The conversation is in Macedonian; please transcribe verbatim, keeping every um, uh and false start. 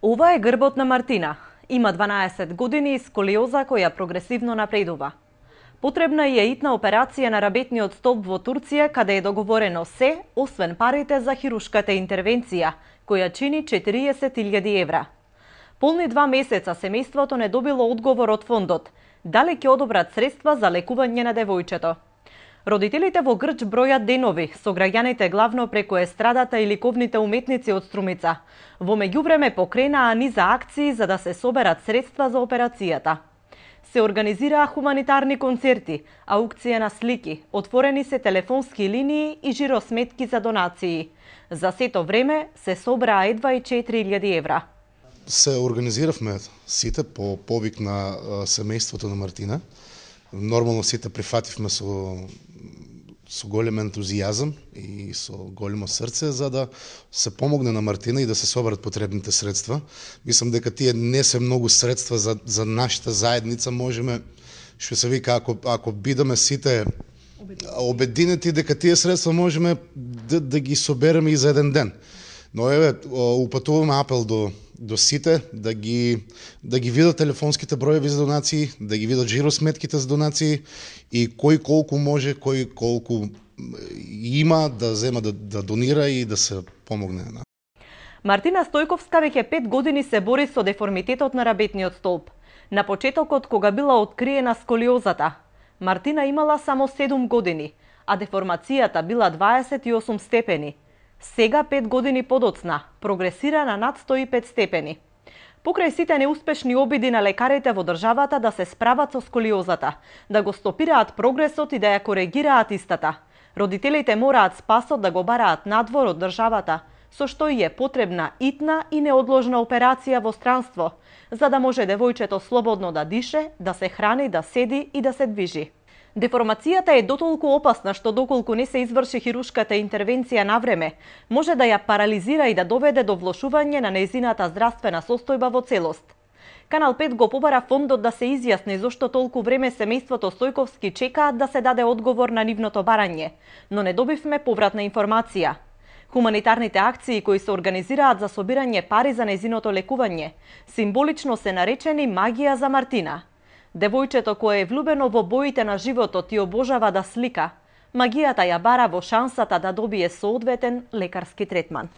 Ова е грбот на Мартина. Има дванаесет години и сколиоза која прогресивно напредува. Потребна е итна операција на рабетниот столб во Турција, каде е договорено се, освен парите за хирушката интервенција, која чини четириесет илјади евра. Полни два месеца семејството не добило одговор од фондот, дали ќе одобрат средства за лекување на девојчето. Родителите во Грч бројат денови со граѓаните главно преку естрадата и ликовните уметници од Струмица. Во меѓувреме покренаа низа акции за да се соберат средства за операцијата. Се организираа хуманитарни концерти, аукција на слики, отворени се телефонски линии и жиросметки за донации. За сето време се собраа едва и четири илјади евра. Се организиравме сите по повик на семејството на Мартина. Нормално сите прифативме со со голем ентузијазам и со големо срце за да се помогне на Мартина и да се соберат потребните средства. Мислам дека тие не се многу средства за за нашата заедница, можеме што се вика ако ако бидеме сите обединети дека тие средства можеме да, да ги собереме и за еден ден. Но еве упатуваме апел до до сите да ги да ги видат телефонските броеви за донации, да ги видат жиросметките за донации и кој колку може, кој колку има да зема да, да донира и да се помогне. Мартина Стојковска веќе пет години се бори со деформитетот на рабетниот столб. На почетокот кога била откриена сколиозата, Мартина имала само седум години, а деформацијата била дваесет и осум степени. Сега, пет години подоцна, прогресира на над сто и пет степени. Покрај сите неуспешни обиди на лекарите во државата да се справат со сколиозата, да го стопираат прогресот и да ја коригираат истата, родителите мораат спасот да го бараат надвор од државата, со што и е потребна итна и неодложна операција во странство, за да може девојчето слободно да дише, да се храни, да седи и да се движи. Деформацијата е дотолку опасна што доколку не се изврши хирушката интервенција на време, може да ја парализира и да доведе до влошување на нејзината здравствена состојба во целост. Канал пет го побара фондот да се изјасни зошто толку време семејството Стојковски чекаат да се даде одговор на нивното барање, но не добивме повратна информација. Хуманитарните акции кои се организираат за собирање пари за нејзиното лекување, символично се наречени магија за Мартина. Девојчето кое е влюбено во боите на животот и обожава да слика, магијата ја бара во шансата да добие соодветен лекарски третман.